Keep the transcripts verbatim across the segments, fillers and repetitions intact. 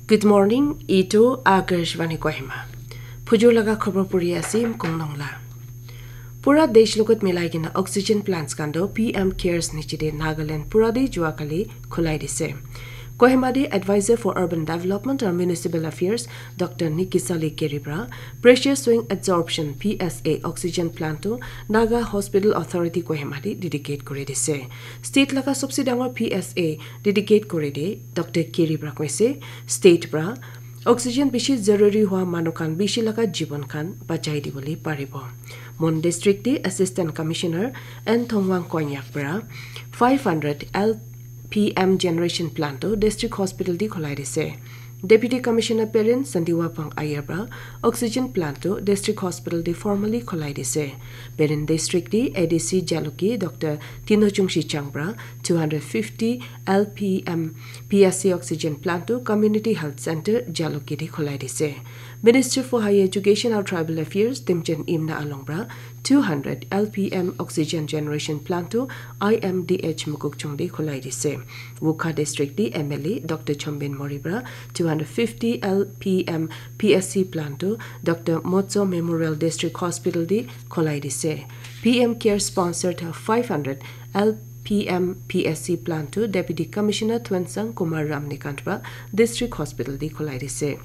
Good morning, itu Akashvani Kohima. Phujur laga khobor puri ase, Mkong Nongla. Pura desh logot milai kena oxygen plants khan toh P M Cares niche te Nagaland pura te jua kali khulai dise. Kohima te Advisor for Urban Development and Municipal Affairs Doctor Nikisali Keri pra Pressure Swing Adsorption P S A oxygen plant toh Naga Hospital Authority Kohima te dedicate kuri dise. State laga sobse dangor P S A dedicate kuri de Doctor Keri pra koise, state pra oxygen bishi zaruri hua manu khan bishi laga jibon khan bachai dibole paribo. Mon district te Assistant Commissioner N Thongwang Konyak pra five hundred L P M generation plant toh district hospital te khulai dise. Deputy Commissioner Perin Sandiwa Pang Ayer pra oxygen plant toh district hospital te formally khulai dise. Perin district te A D C Jalukie Doctor Tino Chungshi Chang pra two hundred fifty L P M P S C oxygen plant toh Community Health Center Jalukie te khulai dise. Minister for Higher Education and Tribal Affairs Timchen Imna Along pra two hundred L P M oxygen generation plant toh I M D H Mokokchung te khulai dise. Wokha district te M L A Doctor Chombin Mori pra two hundred fifty L P M P S C plant toh Doctor Motso Memorial District Hospital te khulai dise. P M Care sponsored five hundred L P M P S C plant toh Deputy Commissioner Thuensang Kumar Ramnikant pra District Hospital te khulai dise.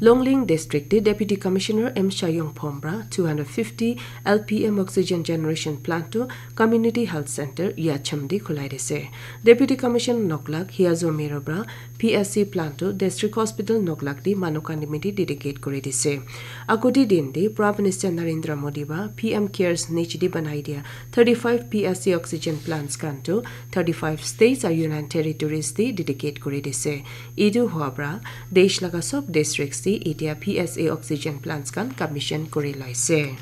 Longling District te Deputy Commissioner M Shayong Phom pra two hundred fifty L P M oxygen generation plant toh Community Health Center Yachem te khulai dise. Deputy Commissioner Noklak Hiazo Miro pra P S C plant toh District Hospital Noklak te manu khan nimite dedicate kuri dise. Agodi din te Prime Minister Narendra Modi pra P M Cares niche te banai dia thirty-five P S C oxygen plants khan toh thirty-five states aru Union Territories te dedicate kuri dise. Etu hua pra desh laga sob districts te etia P S A oxygen plants khan commission kuri loise.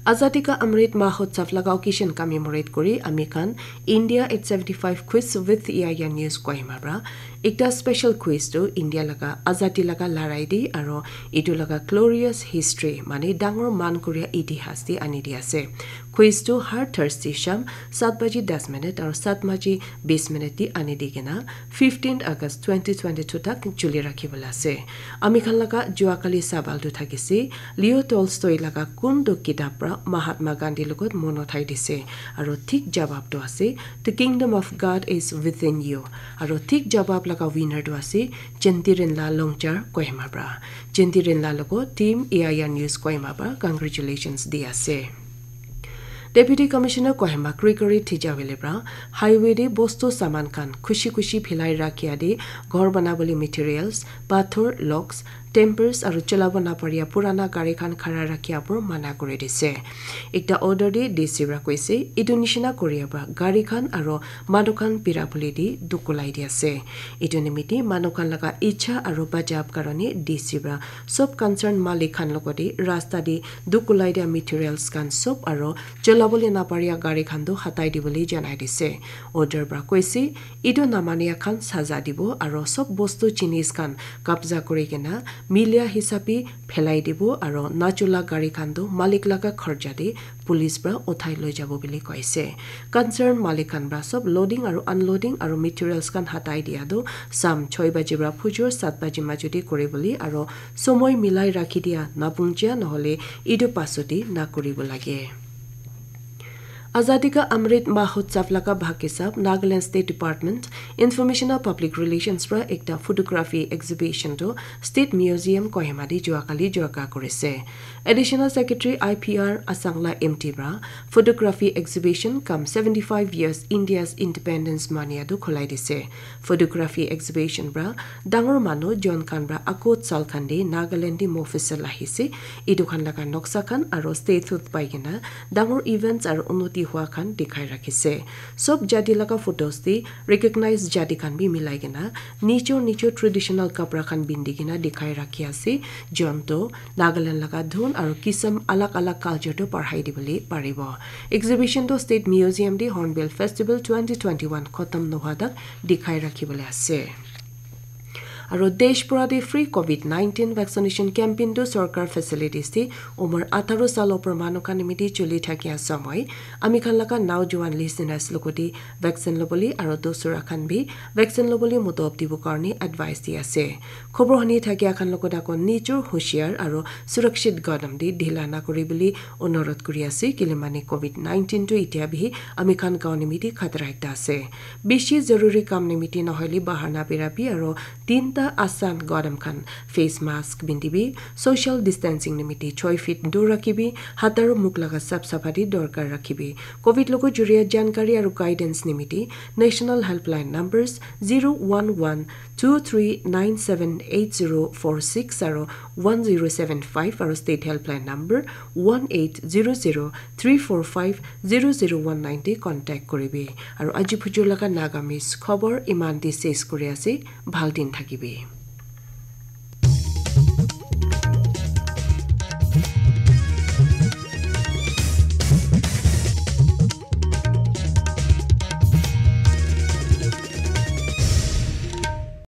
Azadi Ka Amrit Mahotsav laga occasion commemorate kuri ami khan India eight seventy-five quiz with E I A News Kohima pra ekta special quiz tu India laga azadi laga larai di aro etu laga glorious history mane dangor man koria itihas di ani di ase. Quiz tu har Thursday sham sat baji das minute aro sat baji bis minute di ani di kena fifteenth August twenty twenty-two tak chuli rakhi bola ase. Ami khan laga jua kali sabal tu thakise, Leo Tolstoy laga kun tu kitab pra Mahatma Gandhi logot mon uthai dise, aro thik jawab tu ase, The Kingdom of God is Within You, aro thik jawab laga winner tu ase, Jentirinla Longchar Kohima pra. Jentirinla logo team A I R News Kohima pra congratulations di ase. Deputy Commissioner Kohima Gregory Tijawele pra highway de bostu saman khan khushi khushi philai rakhia de ghor banabole materials, pathor, logs, timbers aru cholabo naparia purana gari khan khara rakhia por mana kuri dise. Ekta order de D C pra koise, etu nishina koria pra gari khan aru manu khan pira bole de duk ulai di ase. Etu nimite manu khan laga icha aru bachab karone D C pra sob concern malik khan logote rasta de duk ulai dia materials khan sob aro cholabole naparia gari khan tu hatai dibole janai dise. Order pra koise, etu namania khan saza dibo aro sob bostu jinis khan kabza kuri kena milia hisabe phelai dibo aro nachola gari khan tu malik laga kharcha de police pra uthai loi jabo bole koise. Concern malik khan pra sob loading aru unloading aru materials khan hatai dia tu sam choi baji pra phujur sat baji majo de kuri bole aro somoi milai rakhi dia napungjia nohole etu pasodi na kuribo lage. Azadi Ka Amrit Mahotsav laga bhag hisab Nagaland State Department Information and Public Relations pra ekta photography exhibition tu State Museum Kohima de jua kali jorka kurise. Additional Secretary I P R Asangla M T pra photography exhibition cum seventy-five years India's independence mania tu khulai dise. Photography exhibition pra dangor manu jon khan pra akut sal khan de Nagaland de mofisal ahise. Etu khan laga noksa khan aro statehood pai kena dangor events aru unnoti hua khan dikhai rakhise. Sob jati laga photos de recognize jati khan bi milai kena nichor nichor traditional kapra khan bindi kena dikhai rakhi ase. Jon to Nagaland laga dhun aru kisam alag alag culture to parhai dibole paribo. Exhibition to State Museum de Hornbill Festival twenty twenty-one khotom nohua tak dikhai rakhibole ase. Aro desh pura te free covid nineteen vaccination campaign tu sorkar facilities te umar atharo sal opor manu khan nimiti chuli thakia samoi ami khan laga naujuan listeners lokoti vaccine loboli aro dosura khan bi vaccine loboli mutob dibo karni advice di ase. Khobor huni thakia khan lokot ako nijor hushiar aro surakshit gadam di dhila na kuri bili onorot kuri ase, kile mane covid nineteen tu itia bi ami khan gaon nimiti khatra ekta ase. Bishi zaruri kam nimiti nohoile bahar na birabi aro tinta asan gadam khan face mask bindibi, social distancing nimiti choi feet dur rakhibi, hat aro muk laga sap sapati dorkar rakhibi. Covid logo juria jankari aro guidance nimiti national helpline numbers zero one one two three nine seven eight zero four six aro one zero seven five aro state helpline number one eight zero zero three four five zero zero one nine te contact koribi. Aro aji phujur laga Nagamese khobor iman di ses kuri ase, bhal din thakibi.